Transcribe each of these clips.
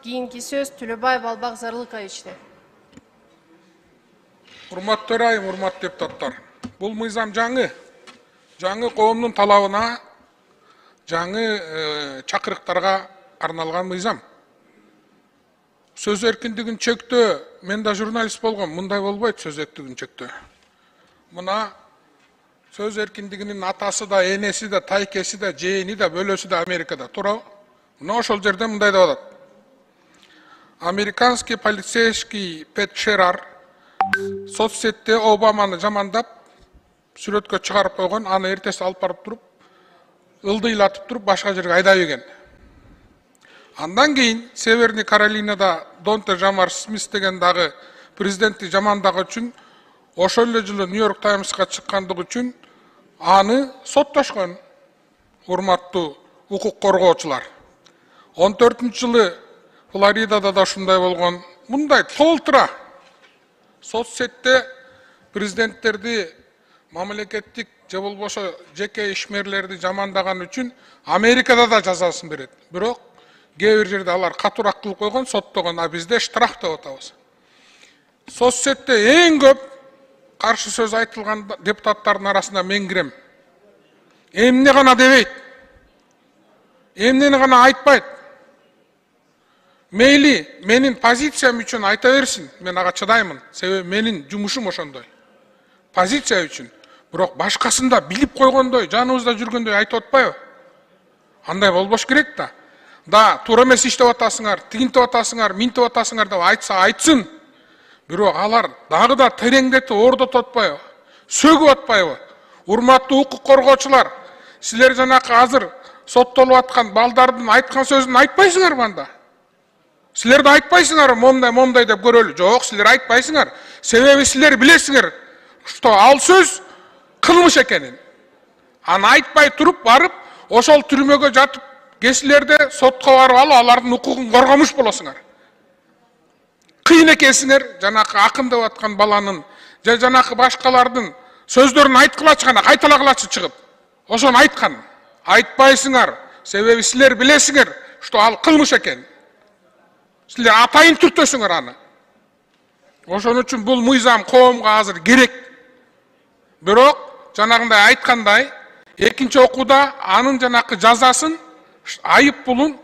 кийинки сөз Төлөбаев Албак Зарлыковичте. Урматтуу айым, урматтуу депутаттар. Бул мыйзам жаңы коомдун талабына, жаңы чакырыктарга арналган мыйзам. Сөз эркиндигин чектөө, мен да журналист болгом, мындай болбойт сөз эркиндигин чектөө. Мына сөз эркиндигинин атасы да, энеси да, тайкеси да, жээни да, бөлөсү да Америкада туурабы? Мына ошол жерде мындай деп атат. Американский полицейский Пэт Шерар соцсетте Обаманы жамандап, сүрөткө чыгарып койгон, аны эртеси алып барып туруп, ылдыйлатып туруп, башка жерге айдап ийген. Андан кийин Северный Каролинада Донте Жамар Смис деген дагы президентти жамандагы үчүн ошол эле жылы Нью-Йорк Таймска чыккандыгы үчүн аны соттошкон. Урматтуу укук коргоочулар. 14-жылы Флоридада да ушундай болгон. Мындай толтура соцсетте президенттерди, мамлекеттик же болбосо жеке ишмерлерди жамандаган үчүн Америкада да жазасын берет. Бирок кээ бир жерде алар катуураак кылып койгон, соттогон, а бизде штраф деп атабыз. Соцсетте эң көп каршы сөз айтылган депутаттардын арасында мен кирем. Эмне гана дебейт, эмнени гана айтпайт. Мейли менин позициям үчүн айта берсин, мен ага чыдаймын. Себеби менин жумушум ошондой. Позиция үчүн. Бирок башкасында билип койгондой, жаныбызда жүргөндөй айтып атпайбы? Андай болбош керек да. Да, туура эмес иштеп атасыңар, тигинтип атасыңар, минтип атасыңар деп айтса айтсын. Бирок алар дагы да тереңдетип ордотуп атпайбы? Сөгүп атпайбы? Урматтуу укук коргоочулар, силер жанакы азыр соттолуп аткан балдардын айткан сөзүн айтпайсыңарбы анда? Силер да айтпайсыңар, момдай деп көрөлү. Жок, силер айтпайсыңар. Себеби силер билесиңер, что ал сөз кылмыш экенин. Аны айтпай туруп барып, ошол түрмөгө жатып, кесилерде сотко барып алып, алардын укугун коргомуш болосуңар. Кыйын экенсиңер, жанакы акын деп аткан баланын, же жанакы башкалардын сөздөрүн айткылачы гана, кайталагылачы чыгып. Ошону айткан. Айтпайсыңар. Себеби силер билесиңер, что ал кылмыш экен. Силер атайын түртөсүңөр аны. Ошон үчүн бул мыйзам коомго азыр керек. Бирок, жанагындай айткандай, экинчи окууда анын жанакы жазасын, айып пулун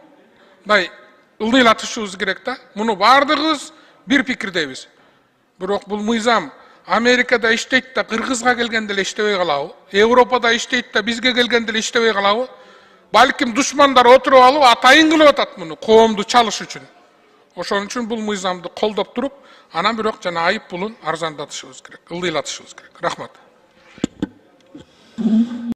ылдыйлатышыбыз керек да. Муну бардыгыбыз бир пикирдейбиз. Бирок бул мыйзам Америкада иштейт да Кыргызга келгенде эле иштебей калабы? Европада иштейт да бизге келгенде эле иштебей калабы? Балким душмандар отуруп алып атайын кылып атат муну коомду чалыш үчүн. Ошон үчүн бул мыйзамды колдоп туруп, анан бирок жана айып пулун арзандатышыбыз керек, ылдыйлатышыбыз керек. Рахмат.